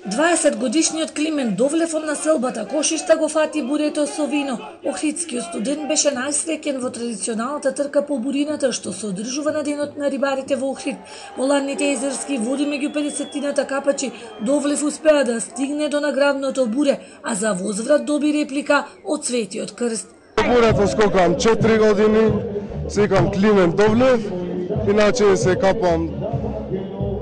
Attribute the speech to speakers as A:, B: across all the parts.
A: 20 годишниот Климент Довлев од населбата Кошишта го фати бурето со вино. Охридскиот студент беше најсреќен во традиционалната трка по бурината што се одржува на денот на рибарите во Охрид. Во ладните езерски води меѓу 50-тината капачи Довлев успеа да стигне до наградното буре, а за возврат доби реплика од Светиот крст.
B: Бурето скокам 4 години, се викам Климент Довлев, иначе се капам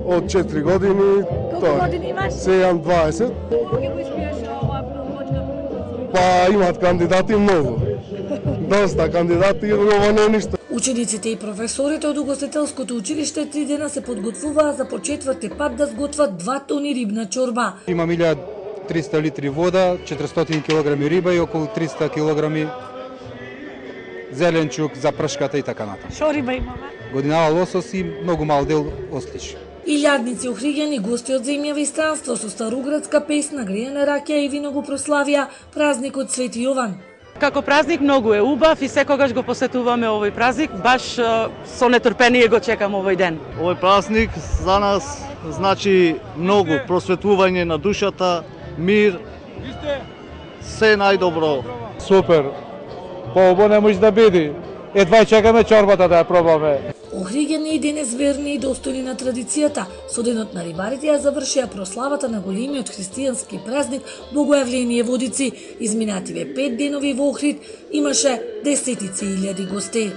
B: од 4 години.
A: Колку години имаш?
B: Се имам 20.
A: Колку ги успеаш ова промовачка?
B: Па имат кандидати многу. Доста кандидати, ова не е ништо.
A: Учениците и професорите од угостителското училиште 3 дена се подготвуваа за по четврти пат да сготват 2 тони рибна чорба.
C: Има 1300 литри вода, 400 кг риба и околу 300 кг зеленчук за пршката и така натаму.
A: Шо риба имаме?
C: Годинава лосос и многу мал дел ослиш.
A: Илјадници охриѓани гости од земја и странство со староградска песна, греена раќа и вино го прославија празникот Свети Јован.
D: Како празник многу е убав и секогаш го посетуваме овој празник, баш со нетрпение го чекам овој ден.
E: Овој празник за нас значи многу просветлување на душата, мир, се најдобро.
F: Супер, по-убаво не може да биде. Едва чекаме чорбата да ја пробаме.
A: Охриѓани и денес верни и достојни на традицијата, со денот на рибарите ја завршија прославата на големиот христијански празник Богојавление Водици. Изминативе 5 денови во Охрид имаше десетици илјади гости.